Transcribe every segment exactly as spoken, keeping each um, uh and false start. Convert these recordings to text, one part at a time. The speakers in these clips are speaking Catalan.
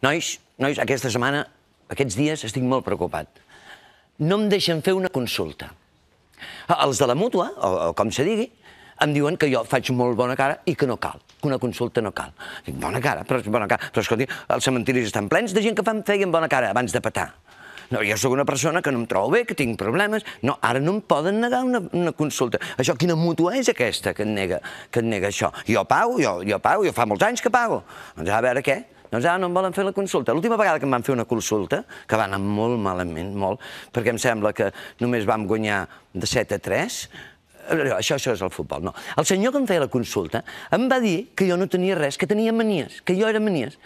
Nois, nois, aquesta setmana, aquests dies, estic molt preocupat. No em deixen fer una consulta. Els de la mútua, o com se digui, em diuen que jo faig molt bona cara i que no cal, que una consulta no cal. Dic, bona cara, però bona cara. Però escolti, els cementiris estan plens de gent que feien bona cara abans de petar. No, jo sóc una persona que no em trobo bé, que tinc problemes. No, ara no em poden negar una consulta. Això, quina mútua és aquesta que et nega això? Jo pago, jo pago, jo fa molts anys que pago. Doncs a veure què? Doncs ara no em volen fer la consulta. L'última vegada que em van fer una consulta, que va anar molt malament, molt, perquè em sembla que només vam guanyar de set a tres, això és el futbol, no. El senyor que em feia la consulta em va dir que jo no tenia res, que tenia manies, que jo era manies.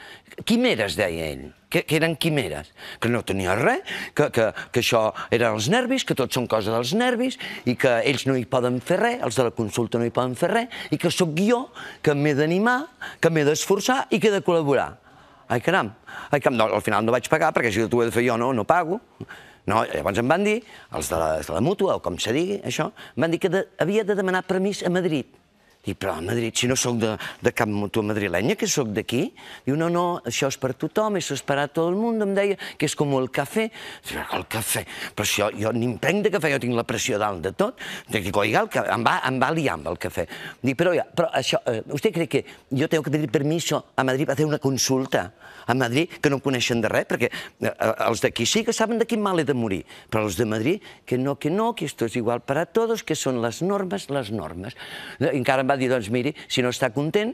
Quimeres, deia ell, que eren quimeres, que no tenia res, que això eren els nervis, que tot són cosa dels nervis, i que ells no hi poden fer res, els de la consulta no hi poden fer res, i que sóc jo que m'he d'animar, que m'he d'esforçar i que he de col·laborar. Ai, caram, al final no vaig pagar, perquè si t'ho he de fer jo no pago. No, llavors em van dir, els de la mútua, o com se digui, això, em van dir que havia de demanar permís a Madrid. Dic, però a Madrid, si no sóc de cap mútua madrilenya, que sóc d'aquí? Diu, no, no, això és per tothom, això és per a tot el món, em deia, que és com el cafè. Dic, el cafè, però si jo ni em prenc de cafè, jo tinc la pressió dalt de tot. Dic, oiga, em va liar amb el cafè. Dic, però això, ¿usted cree que yo tengo que pedir permiso a Madrid para hacer una consulta? A Madrid, que no coneixen de res, perquè els d'aquí sí que saben de quin mal he de morir, però els de Madrid, que no, que no, que esto es igual para todos, que són les normes, les normes. I encara em va dir, doncs miri, si no està content,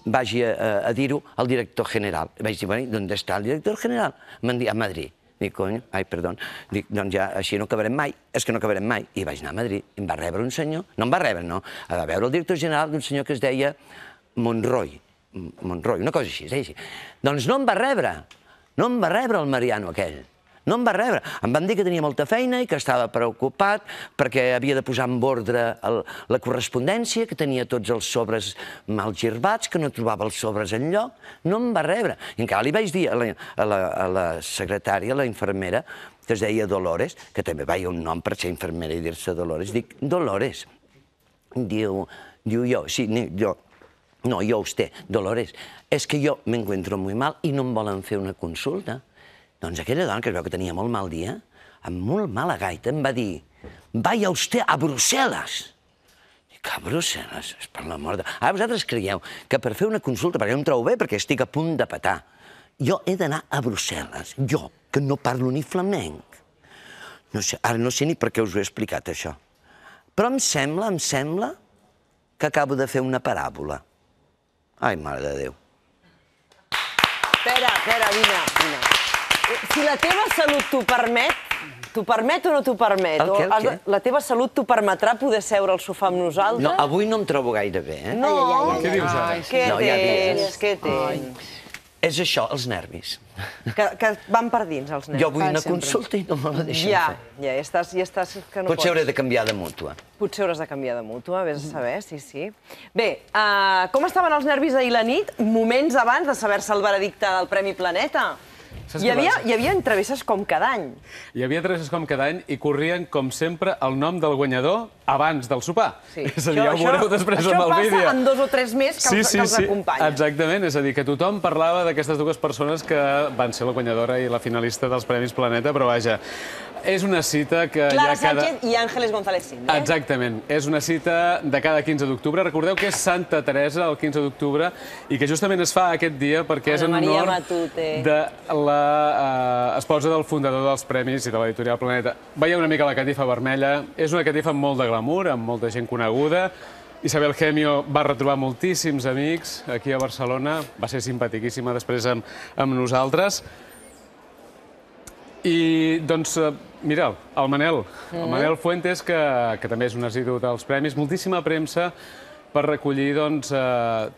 vagi a dir-ho al director general. Vaig dir, bueno, ¿dónde está el director general? M'han dit, a Madrid. Dic, cony, ai, perdó. Dic, doncs ja, així no acabarem mai. És que no acabarem mai. I vaig anar a Madrid. Em va rebre un senyor, no em va rebre, no, a veure el director general d'un senyor que es deia Monroy. Monroy, una cosa així, es deia així. Doncs no em va rebre, no em va rebre el Mariano aquell, no em va rebre. Em van dir que tenia molta feina i que estava preocupat perquè havia de posar en ordre la correspondència, que tenia tots els sobres mal girbats, que no trobava els sobres enlloc. No em va rebre. I encara li vaig dir a la secretària, a la infermera, que es deia Dolores, que també veia un nom per ser infermera i dir-se Dolores, dic, Dolores, diu jo, sí, jo, no, yo usted, Dolores, és que jo m'encuentro muy mal i no em volen fer una consulta. Doncs aquella dona, que es veu que tenia molt mal dia, amb molt mala gaita, em va dir, vaya usted a Brussel·les. Dic, a Brussel·les? És per l'amor de... Ara vosaltres creieu que per fer una consulta, perquè jo em trobo bé, perquè estic a punt de petar, jo he d'anar a Brussel·les, jo, que no parlo ni flamenc. No sé, ara no sé ni per què us ho he explicat, això. Però em sembla, em sembla que acabo de fer una paràbola. Ai, mare de Déu. Espera, espera, vine, vine. Si la teva salut t'ho permet, t'ho permet o no t'ho permet? El què, el què? La teva salut t'ho permetrà poder seure al sofà amb nosaltres? No, avui no em trobo gaire bé, eh? No, què dius ara? Què tens? Què tens? És això, els nervis. Que van per dins, els nervis. Jo vull una consulta i no me la deixen Ja, fer. ja, ja estàs que no pots. Potser hauré de canviar de mútua. Potser hauràs de canviar de mútua, vés a saber, sí, sí. Bé, com estaven els nervis ahir la nit, moments abans de saber-se el veredicte del Premi Planeta? Hi havia entrevistes com cada any. Hi havia entrevistes com cada any i corrien, com sempre, el nom del guanyador abans del sopar. És a dir, ja ho veureu després amb el vídeo. Això passa en dos o tres més que els acompanyen. Exactament, és a dir, que tothom parlava d'aquestes dues persones que van ser la guanyadora i la finalista dels Premis Planeta, però vaja, és una cita que Clara Sánchez i Ángeles González Sinde. Exactament, és una cita de cada quinze d'octubre. Recordeu que és Santa Teresa el quinze d'octubre i que justament es fa aquest dia perquè és en honor de l'esposa del fundador dels Premis i de l'editorial Planeta. Veieu una mica la catifa vermella, és una catifa amb molt de glamour, amb molta gent coneguda. Isabel Gemio va retrobar moltíssims amics aquí a Barcelona, va ser simpaticíssima després amb nosaltres. I, doncs, mira'l, el Manel, el Manel Fuentes, que també és un assidu dels premis, moltíssima premsa per recollir, doncs,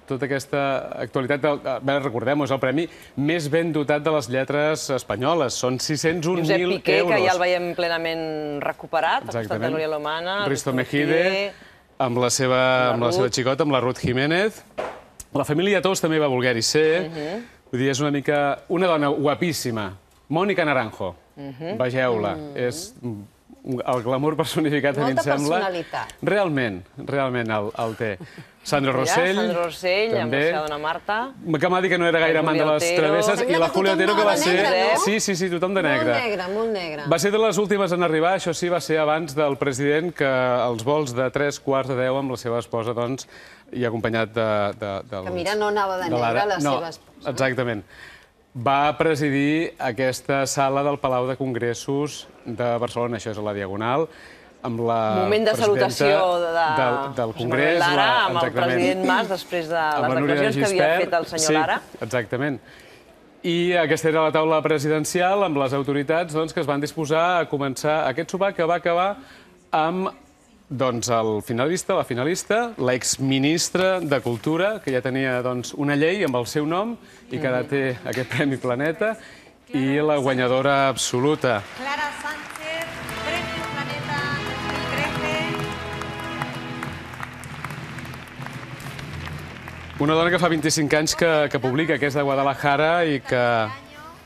tota aquesta actualitat. Recordem-ho, és el premi més ben dotat de les lletres espanyoles. Són sis-cents un mil euros. Josep Piqué, que ja el veiem plenament recuperat, al costat de Núria Lomana. Risto Mejide, amb la seva xicota, amb la Ruth Jiménez. La família Tous també va voler-hi ser. Vull dir, és una mica... Una dona guapíssima. Mònica Naranjo, vegeu-la, és el glamour personificat, a mi em sembla. Molta personalitat. Realment, realment el té. Sandro Rossell, també. Sandro Rossell, amb la seva dona Marta. Que m'ha dit que no era gaire amant de les travesses. I la Julia Otero, que va ser... Sí, sí, sí, tothom de negre. Molt negre, molt negre. Va ser de les últimes en arribar, això sí, va ser abans del president, que els vols de tres quarts de deu amb la seva esposa, doncs, i acompanyat de... Que mira, no anava de negre la seva esposa. No, exactament. Va presidir aquesta sala del Palau de Congressos de Barcelona, això és a la Diagonal, amb la moment de salutació del Congrés. Lara, amb el president Mas, després de les declaracions que havia fet el senyor Lara. Sí, exactament. I aquesta era la taula presidencial amb les autoritats que es van disposar a començar aquest sopar, que va acabar amb el finalista, la finalista, l'exministre de Cultura, que ja tenia una llei amb el seu nom i que ara té aquest Premi Planeta, i la guanyadora absoluta. Clara Sánchez, Premi Planeta dos mil trece. Una dona que fa vint-i-cinc anys que publica, que és de Guadalajara i que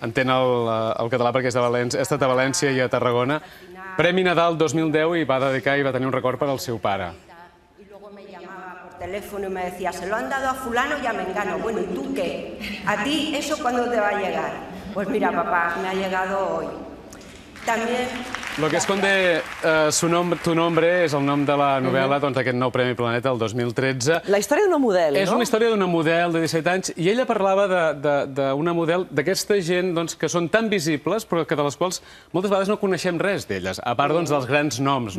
entén el català perquè és de València, ha estat a València i a Tarragona. Premi Nadal dos mil deu i va dedicar i va tenir un record per al seu pare. Y luego me llamaba por teléfono y me decía, se lo han dado a fulano y a mengano. Bueno, ¿y tú qué? ¿A ti eso cuándo te va a llegar? Pues mira, papá, me ha llegado hoy. También... Lo que esconde tu nombre és el nom de la novel·la d'aquest nou Premi Planeta, el dos mil tretze. La història d'una model, no? És una història d'una model de disset anys i ella parlava d'una model d'aquesta gent que són tan visibles però que de les quals moltes vegades no coneixem res d'elles, a part dels grans noms,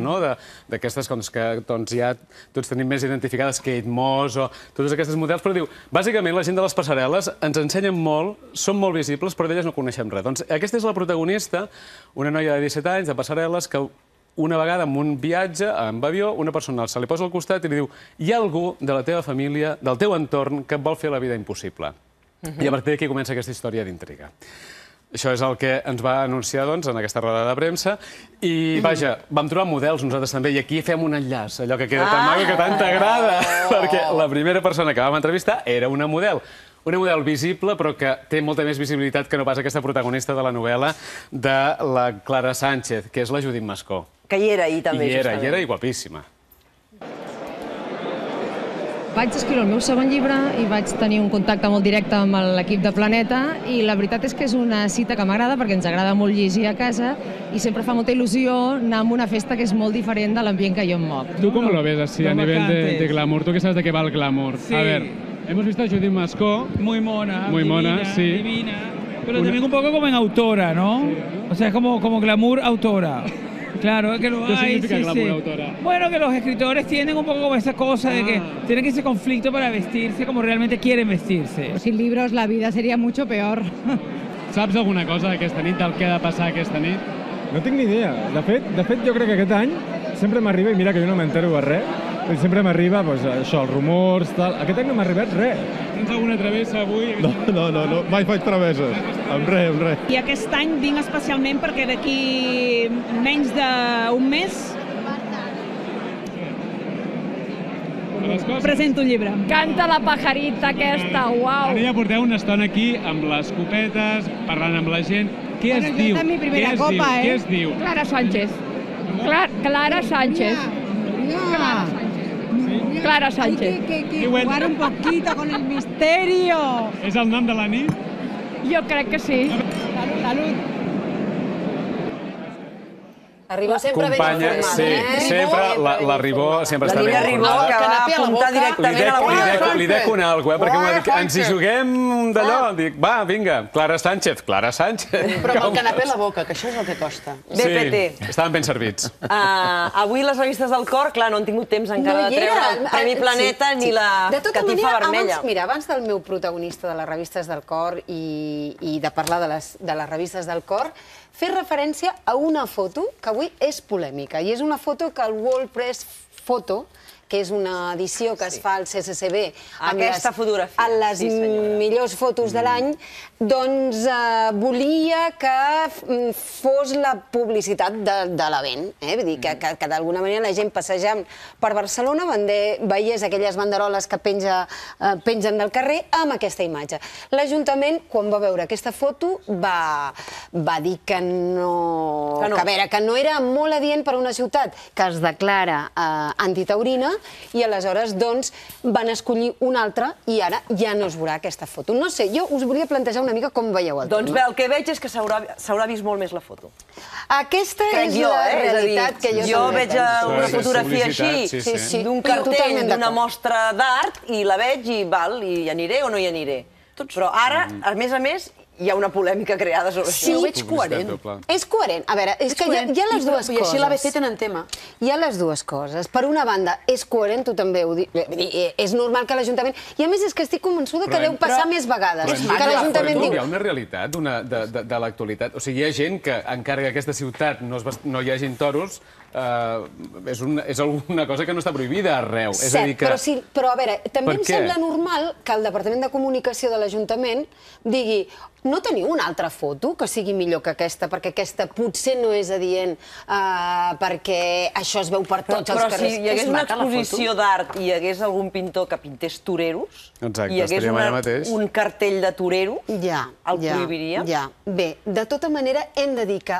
d'aquestes que ja tots tenim més identificades, Kate Moss o totes aquestes models, però diu, bàsicament la gent de les passarel·les ens ensenyen molt, són molt visibles, però d'elles no coneixem res. Doncs aquesta és la protagonista, una noia de disset anys, de passarel·les, que una vegada en un viatge amb avió, una persona se li posa al costat i li diu hi ha algú de la teva família, del teu entorn, que et vol fer la vida impossible. I a partir d'aquí comença aquesta història d'intriga. Això és el que ens va anunciar en aquesta roda de premsa i, vaja, vam trobar models nosaltres també i aquí fem un enllaç, allò que queda tan maco que tant t'agrada, perquè la primera persona que vam entrevistar era una model. Una model visible, però que té molta més visibilitat que no pas aquesta protagonista de la novel·la de la Clara Sánchez, que és la Judit Mascó. Que hi era ahir també, justament. Hi era, i guapíssima. Vaig escriure el meu segon llibre i vaig tenir un contacte molt directe amb l'equip de Planeta i la veritat és que és una cita que m'agrada perquè ens agrada molt llegir a casa i sempre fa molta il·lusió anar a una festa que és molt diferent de l'ambient que jo em moc. Tu com lo ves así a nivell de glamour? Tu que sabes de qué va el glamour. A ver... Hemos visto a Judit Mascó. Muy mona, muy mona, divina, sí. divina. Pero también un poco como en autora, ¿no? Sí, ¿no? O sea, es como, como glamour autora. Claro, que lo hay. ¿Qué significa sí, glamour sí. autora? Bueno, que los escritores tienen un poco como esa cosa ah. de que tienen ese conflicto para vestirse como realmente quieren vestirse. Sin libros la vida sería mucho peor. Saps alguna cosa d'aquesta nit, del que ha de passar aquesta nit? No tinc ni idea. De fet, de fet jo crec que aquest any sempre m'arriba, i mira que jo no m'entero de res, sempre m'arriba això, els rumors, tal. Aquest any no m'ha arribat res. Tens alguna travessa avui? No, no, no, no, mai faig travesses. Amb res, amb res. I aquest any vinc especialment perquè d'aquí menys d'un mes presento un llibre. Canta la pajarita aquesta, uau! Ara ja porteu una estona aquí amb les copetes, parlant amb la gent. Què es diu? Esta és mi primera copa, eh? Què es diu? Clara Sánchez. Clara Sánchez. Clara Sánchez. Clara Sánchez. Hay que, que, que jugar un poquito con el misterio. És el nom de la nit? Jo crec que sí. Salut, salut. Arribó sempre ben informada, sí, eh? sempre, la Ribó sempre està ben informada. La Ribó, que va apuntar directament a la boca. Li dec una alguna cosa, perquè m'ha dit, ens hi juguem d'allò. Dic, va, vinga, Clara Sánchez, Clara Sánchez. Però amb el canapé a la boca, que això és el que costa. B P T. Sí, estaven ben servits. Avui les revistes del Cor, clar, no han tingut temps encara de treure el Premi Planeta ni la catifa vermella. Mira, abans del meu protagonista de les revistes del Cor i de parlar de les revistes del Cor, fer referència a una foto que avui és polèmica, i és una foto que el World Press Photo que és una edició que es fa al C C C B amb les millors fotos de l'any, doncs volia que fos la publicitat de l'event. Vull dir, que d'alguna manera la gent passejant per Barcelona veiés aquelles banderoles que pengen del carrer amb aquesta imatge. L'Ajuntament, quan va veure aquesta foto, va dir que no... que a veure, que no era molt adient per a una ciutat que es declara antitaurina i aleshores, doncs, van escollir una altra i ara ja no es veurà aquesta foto. No sé, jo us volia plantejar una mica com veieu el tema. Doncs bé, el que veig és que s'haurà vist molt més la foto. Aquesta és la realitat que jo... Jo veig una fotografia així, d'un cartell, d'una mostra d'art, i la veig i val, i hi aniré o no hi aniré. Però ara, a més a més, hi ha una polèmica creada sobre això. Sí, ho veig coherent. És coherent. A veure, és que hi ha les dues coses. I així l'A B C tenen tema. Hi ha les dues coses. Per una banda, és coherent, tu també ho dius. És normal que l'Ajuntament... I a més és que estic convençuda que deu passar més vegades. Que l'Ajuntament diu... Hi ha una realitat de l'actualitat. O sigui, hi ha gent que, encara que a aquesta ciutat no hi hagin toros, és alguna cosa que no està prohibida arreu. Cert, però a veure, també em sembla normal que el Departament de Comunicació de l'Ajuntament digui no teniu una altra foto que sigui millor que aquesta, perquè aquesta potser no és adient, perquè això es veu per tots els carrers. Però si hi hagués una exposició d'art i hi hagués algun pintor que pintés toreros, i hi hagués un cartell de torero, el prohibiria? Ja, bé, de tota manera hem de dir que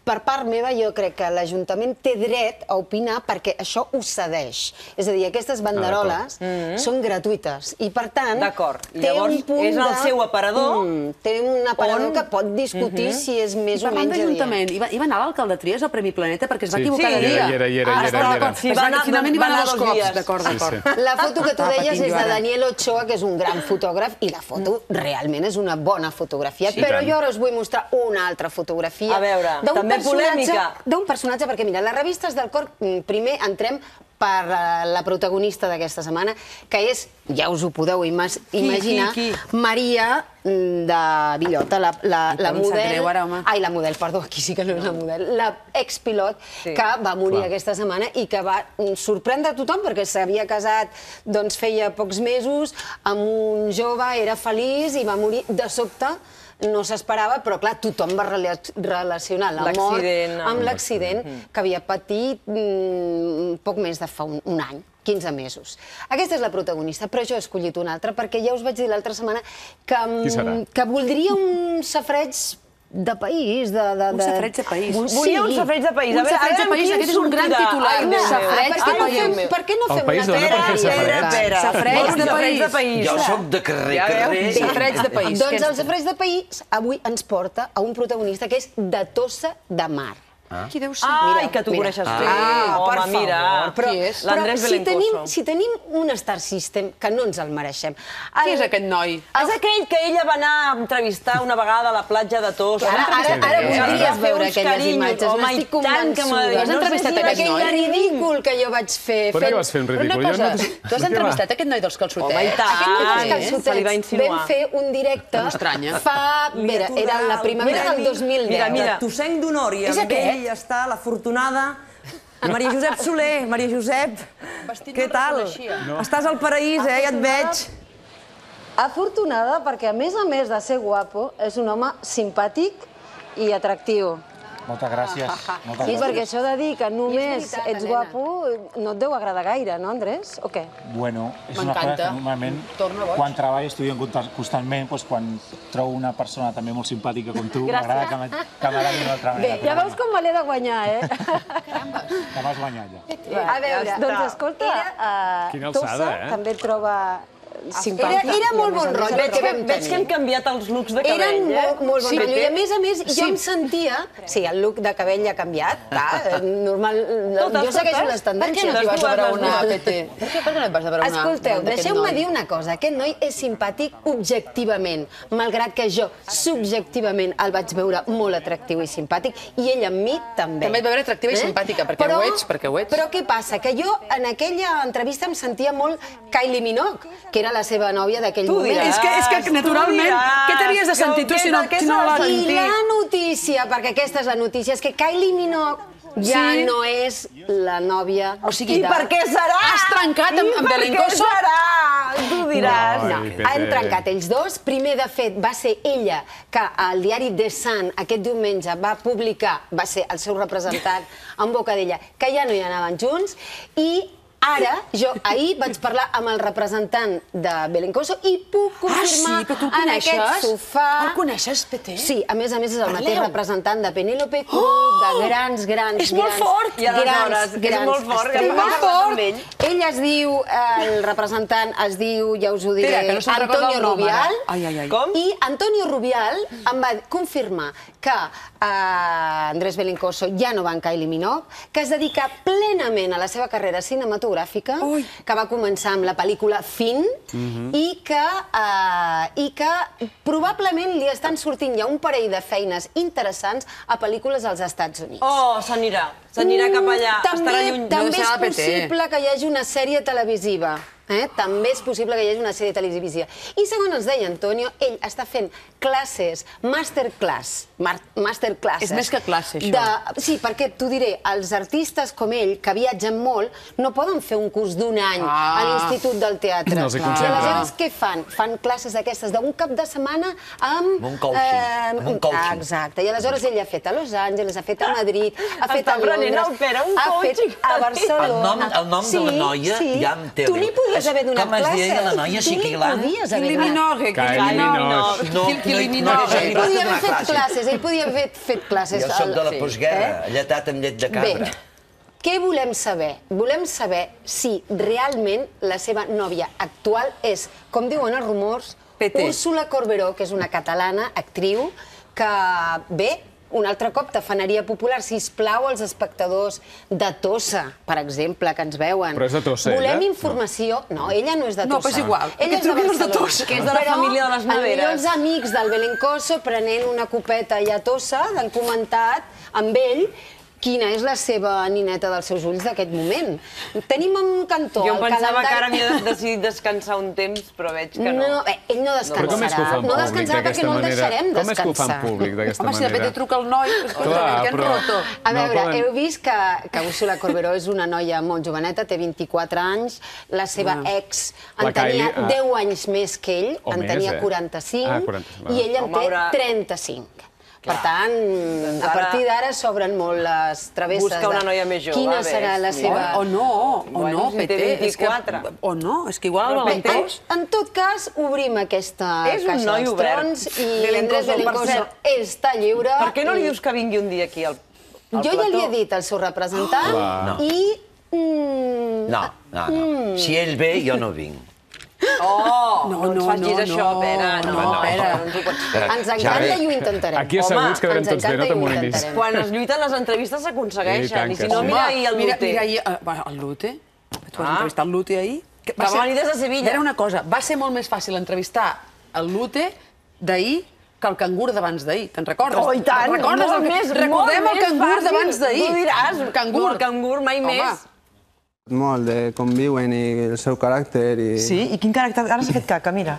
per part meva jo crec que l'Ajuntament té dret a opinar perquè això ho cedeix. És a dir, aquestes banderoles són gratuïtes i per tant... D'acord, llavors és el seu aparador... Té un aparador que pot discutir si és més o menys adient. Parlant d'Ajuntament, hi va anar l'alcalde Trias al Premi Planeta perquè es va equivocar de dia. Sí, hi era, hi era, hi era. Finalment hi va anar dos cops, d'acord, d'acord. La foto que tu deies és de Daniel Ochoa, que és un gran fotògraf, i la foto realment és una bona fotografia, però jo ara us vull mostrar una altra fotografia. A veure, també polèmica. D'un personatge, perquè mira, les revistes del cor, primer entrem per la protagonista d'aquesta setmana, que és, ja us ho podeu imaginar, Maria de Villota, la model... Ai, la model, perdó, aquí sí que no és la model. La expilot que va morir aquesta setmana i que va sorprendre a tothom perquè s'havia casat, doncs feia pocs mesos, amb un jove, era feliç i va morir de sobte. No s'esperava, però clar, tothom va relacionar la mort amb l'accident que havia patit poc més de fa un any, quinze mesos. Aquesta és la protagonista, però jo he escollit una altra perquè ja us vaig dir l'altra setmana que voldria un safareig de país. Un safareig de país. Volia un safareig de país. Un safareig de país, aquest és un gran titular. Un safareig de país. Per què no fem una pera? Safareig de país. Jo soc de carrer, carrer. Safareig de país. Doncs el safareig de país avui ens porta a un protagonista que és de Tossa de Mar. Qui deu ser? Ai, que tu coneixes bé. Home, mira. L'Andrés Belencoso. Si tenim un Star System, que no ens el mereixem. Qui és aquest noi? És aquell que ella va anar a entrevistar una vegada a la platja de Tossa. Ara voldries veure aquelles imatges. N'estic convençuda. Has entrevistat aquest noi? Aquell ridícul que jo vaig fer. Per què vas fer un ridícul? Una cosa, tu has entrevistat aquest noi dels calçotets? Home, i tant. Se li va insinuar. Vam fer un directe fa... Era la primavera del dos mil deu. Mira, mira. Tossenc d'honor i amb ell està l'afortunada Maria Josep Soler. Maria Josep, què tal? Estàs al paraís, eh? Ja et veig. Afortunada perquè, a més a més de ser guapo, és un home simpàtic i atractiu. Moltes gràcies. Sí, perquè això de dir que només ets guapo no et deu agradar gaire, no, Andrés? O què? Bueno, és una cosa que normalment, quan treballo, estudio constantment, quan trobo una persona també molt simpàtica com tu, m'agrada que m'agradi d'una altra manera. Bé, ja veus com me l'he de guanyar, eh? Que m'has guanyat, ja. A veure, doncs escolta, Tossa també troba... Era molt bon rotllo que vam tenir. Veig que han canviat els looks de cabell, eh? Eren molt bon rotllo. I a més a més, jo em sentia... Sí, el look de cabell ja ha canviat, clar, normal... Jo segueixo les tendències. Per què no et vas a veure una A P T? Per què no et vas a veure una... Escolteu, deixeu-me dir una cosa. Aquest noi és simpàtic objectivament, malgrat que jo subjectivament el vaig veure molt atractiu i simpàtic, i ell amb mi també. També et va veure atractiva i simpàtica, perquè ho ets, perquè ho ets. Però què passa? Que jo en aquella entrevista em sentia molt Kylie Minogue, que era la seva nòvia d'aquell moment. És que, naturalment, què t'havies de sentir tu si no l'has sentit? I la notícia, perquè aquesta és la notícia, és que Kylie Minogue ja no és la nòvia... I per què serà? Has trencat amb Belencoso? I per què serà? Tu diràs. No, han trencat ells dos. Primer, de fet, va ser ella que al diari The Sun aquest diumenge va publicar, va ser el seu representant en boca d'ella, que ja no hi anaven junts, i ara, jo ahir vaig parlar amb el representant de Belencoso i puc confirmar en aquest sofà... El coneixes, Peté? Sí, a més a més és el mateix representant de Penélope Cruz, de grans, grans, grans... És molt fort! I aleshores, és molt fort, que molt fort. Ell es diu, el representant es diu, ja us ho diré, Antonio Rubial. Com? I Antonio Rubial em va confirmar que Andrés Belencoso ja no va amb Kylie Minogue, que es dedica plenament a la seva carrera cinematogràfica, que va començar amb la pel·lícula Fin, i que probablement li estan sortint ja un parell de feines interessants a pel·lícules als Estats Units. Oh, s'anirà. S'anirà cap allà. També és possible que hi hagi una sèrie televisiva. També és possible que hi hagi una sèrie televisiva. I segons ens deia Antonio, ell està fent classes, masterclass, masterclasses. És més que classe, això. Sí, perquè t'ho diré, els artistes com ell, que viatgen molt, no poden fer un curs d'un any a l'Institut del Teatre. Els hi concentra. I aleshores què fan? Fan classes d'aquestes d'un cap de setmana amb... Un coaching. Un coaching. Exacte. I aleshores ell ha fet a Los Angeles, ha fet a Madrid, ha fet a Londres, ha fet a Barcelona. El nom de la noia ja em té... Tu li podies haver donat Com es classes. deia la noia Xiquilant? Tu li podies haver Kylie Minogue. Kylie Minogue. No, Ell podia haver fet classes, ell podia haver fet classes. Jo soc de la postguerra, lletat amb llet de cabra. Bé, què volem saber? Volem saber si realment la seva nòvia actual és, com diuen els rumors, Úrsula Corberó, que és una catalana, actriu, que, bé, un altre cop, tafaneria popular, sisplau als espectadors de Tossa, per exemple, que ens veuen. Però és de Tossa, ella? Volem informació... No, ella no és de Tossa. No, però és igual. Ella és de Barcelona. Que és de la família de les neveres. Però els amics del Belencoso, prenent una copeta allà a Tossa, han comentat amb ell quina és la seva nineta dels seus ulls d'aquest moment. Tenim un cantó... Jo em pensava que ara havia decidit descansar un temps, però veig que no. No, ell no descansarà. No descansarà perquè no el deixarem descansar. Com és que ho fan públic d'aquesta manera? Home, si de fet truca el noi, escolta'm, que han roto. A veure, heu vist que Úrsula Corberó és una noia molt joveneta, té vint-i-quatre anys, la seva ex en tenia deu anys més que ell, en tenia quaranta-cinc, i ell en té trenta-cinc. Per tant, a partir d'ara s'obren molt les travesses. Busca una noia més jove. Quina serà la seva... O no, o no, Peté. O no, és que igual el Belencoso... En tot cas, obrim aquesta caixa dels trons i Andrés Belencoso està lliure. Per què no li dius que vingui un dia aquí al plató? Jo ja li he dit al seu representant i... No, no, no. Si ell ve, jo no vinc. Oh, no ens facis això, Pere. No, Pere. Ens encanta i ho intentarem. Aquí asseguts quedarem tots bé, no t'amoïnis. Quan es lluiten les entrevistes s'aconsegueixen. I si no, mira ahir el Lute. Mira ahir... El Lute? Tu has entrevistat el Lute ahir? Va venir des de Sevilla. Era una cosa, va ser molt més fàcil entrevistar el Lute d'ahir que el cangur d'abans d'ahir. Te'n recordes? Oh, i tant! Molt més, Recordem el cangur d'abans d'ahir. Tu diràs, el cangur mai més. Molt, de com viuen i el seu caràcter i... Sí? I quin caràcter? Ara s'ha fet caca, mira.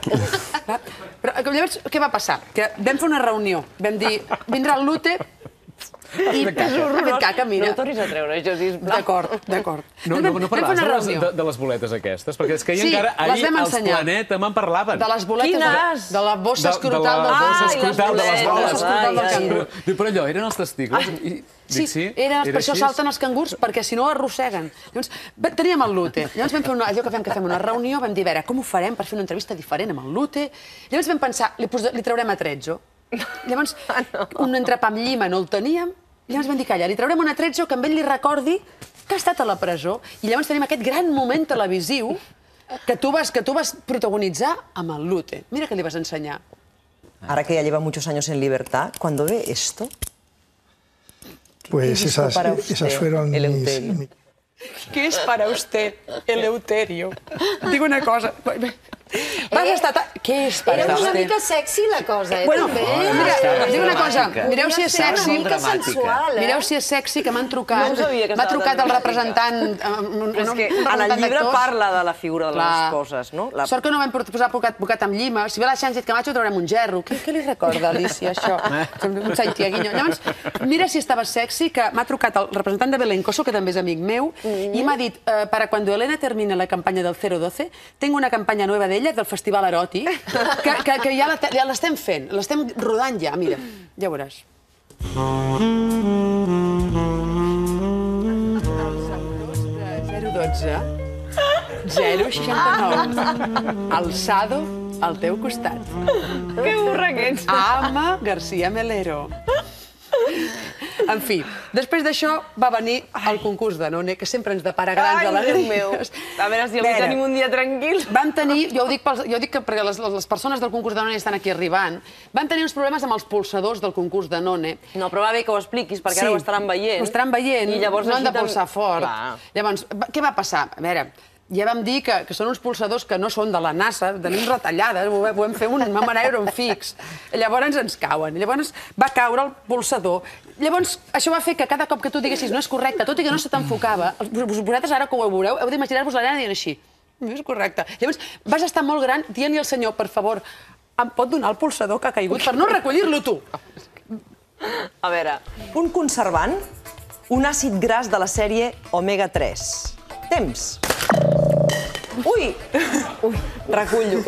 Però llavors, què va passar? Que vam fer una reunió, vam dir, vindrà el Lute i ha fet caca, mira. No ho tornis a treure, això, sisplau. D'acord, d'acord. No parlaves de les boletes aquestes, perquè és que encara ahir els Planeta me'n parlaven. De les boletes... Quines? De la bossa escrotal del bossa cangur. escrotal de les boles. escrotal del cangur. Però allò, eren els testicles? Sí, per això salten els cangurs, perquè si no arrosseguen. Llavors, teníem el Lute. Llavors vam fer allò que fem que fem una reunió, vam dir, a veure, com ho farem per fer una entrevista diferent amb el Lute? Llavors vam pensar, li traurem atrezzo. Llavors, un entrepà amb llima no el teníem. Llavors vam dir, calla, li traurem un atrezzo que amb ell li recordi que ha estat a la presó. I llavors tenim aquest gran moment televisiu que tu vas protagonitzar amb el Lute. Mira que li vas ensenyar. Ahora que ya lleva muchos años en libertad, cuando ve esto... Pues esas, esas fueron mis... ¿Qué es para usted Eleuterio? Digo una cosa, Vas estar... Què és per Era una mica sexy la cosa, eh? Bueno, mira, dic una cosa, mireu si és sexy. Una mica sensual, eh? Mireu si és sexy, que m'han trucat. M'ha trucat el representant... És que en el llibre parla de la figura de les esposes, no? Sort que no vam posar bocat amb llima. Si ve la Sánchez Camacho trobarem un gerro. Què li recorda, Alicia, això? Un Santiaguinho. Llavors, mira si estava sexy, que m'ha trucat el representant de Belencoso, que també és amic meu, i m'ha dit, para cuando Elena termine la campanya del cero doce, tengo una campanya nueva d'ella, del Festival Eròtic, que ja l'estem fent, l'estem rodant ja, mira, ja ho veuràs. zero dotze, zero seixanta-nou, alçado al teu costat. Que burra que ets. Ama García Melero. En fi, després d'això va venir el concurs de None, que sempre ens depara grans alegries. A veure si avui tenim un dia tranquil. Vam tenir, jo ho dic perquè les persones del concurs de None estan aquí arribant, van tenir uns problemes amb els polsadors del concurs de None. No, però va bé que ho expliquis, perquè ara ho estaran veient. Ho estaran veient, no han de polsar fort. Llavors, què va passar? A veure... Ja vam dir que són uns polsadors que no són de la NASA, tenim retallades, ho vam fer un manera un fix. Llavors ens cauen. Llavors va caure el polsador. Llavors això va fer que cada cop que tu diguessis no és correcte, tot i que no se t'enfocava, vosaltres ara que ho veureu, heu d'imaginar-vos l'Helena dient així. No és correcte. Llavors vas estar molt gran dient-li al senyor, per favor, em pot donar el polsador que ha caigut per no recollir-lo tu? A veure, un conservant, un àcid gras de la sèrie omega tres. Temps. Ui! Ui, recullo.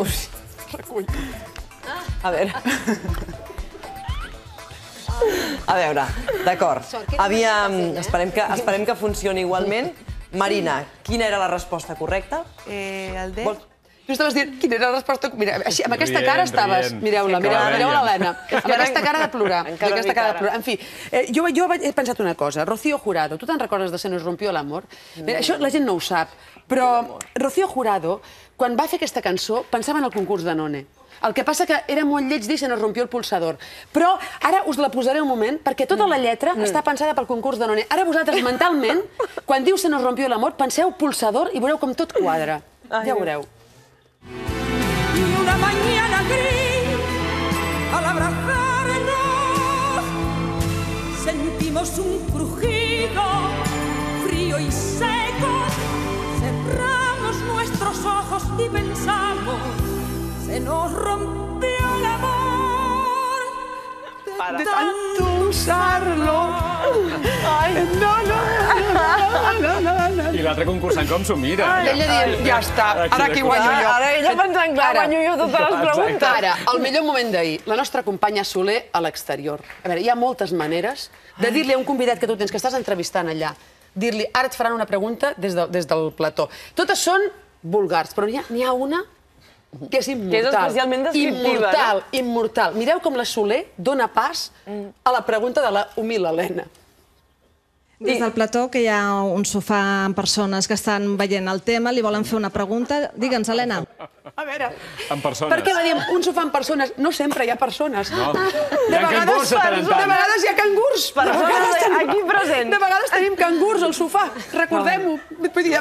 Recullo. A veure. A veure, d'acord. Esperem que funcioni igualment. Marina, quina era la resposta correcta? El D. Tu estaves dient quina era la resposta... Mira, amb aquesta cara estaves... Mireu-la, mireu l'Helena. Amb aquesta cara de plorar. Aquesta cara de plorar. En fi, jo he pensat una cosa. Rocío Jurado, tu te'n recordes de Se nos rompió l'amor? Això la gent no ho sap, però Rocío Jurado, quan va fer aquesta cançó, pensava en el concurs de None. El que passa que era molt lleig dir Se nos rompió el pulsador. Però ara us la posaré un moment, perquè tota la lletra està pensada pel concurs de None. Ara vosaltres, mentalment, quan diu Se nos rompió l'amor, penseu pulsador i veureu com tot quadra. Ja veureu. Y una mañana gris, al abrazarnos, sentimos un crujido frío y seco. Cerramos nuestros ojos y pensamos, se nos rompió el amor de tanto usarlo. No, no, no, no, no. I l'altre concursant com s'ho mira? Ella dient, ja està, ara aquí guanyo jo. Ara ella pensant, clar, guanyo jo totes les preguntes. Ara, el millor moment d'ahir, la nostra companya Soler a l'exterior. A veure, hi ha moltes maneres de dir-li a un convidat que tu tens, que estàs entrevistant allà, dir-li, ara et faran una pregunta des del plató. Totes són vulgars, però n'hi ha una que és immortal. Que és especialment descriptiva. Immortal, immortal. Mireu com la Soler dona pas a la pregunta de la humil Helena. Des del plató, que hi ha un sofà amb persones que estan veient el tema, li volen fer una pregunta. Digue'ns, Helena. A veure... En persones. Per què la diem un sofà amb persones? No sempre hi ha persones. No. Hi ha cangurs a tant en tant. De vegades hi ha cangurs. Aquí present. De vegades tenim cangurs al sofà. Recordem-ho.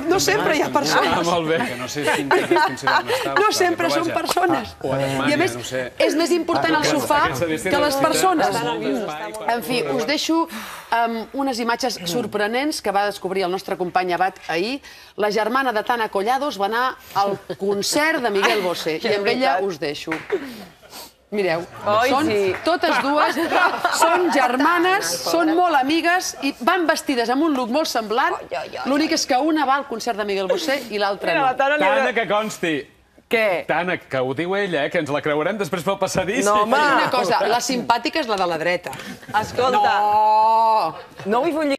No sempre hi ha persones. Ah, molt bé. Que no sé si es considera un estable. No sempre són persones. I a més, és més important el sofà que les persones. En fi, us deixo unes imatges sorprenents que va descobrir el nostre company Abad ahir. La germana de Tana Collados va anar al concert de Miguel Bosé i amb ella us deixo. Mireu, són totes dues, són germanes, són molt amigues i van vestides amb un look molt semblant. L'únic és que una va al concert de Miguel Bosé i l'altra no. Tana, que consti. Què? Tana, que ho diu ella, que ens la creurem després pel passadís. No, home, una cosa, la simpàtica és la de la dreta. Escolta, no, no vull fer un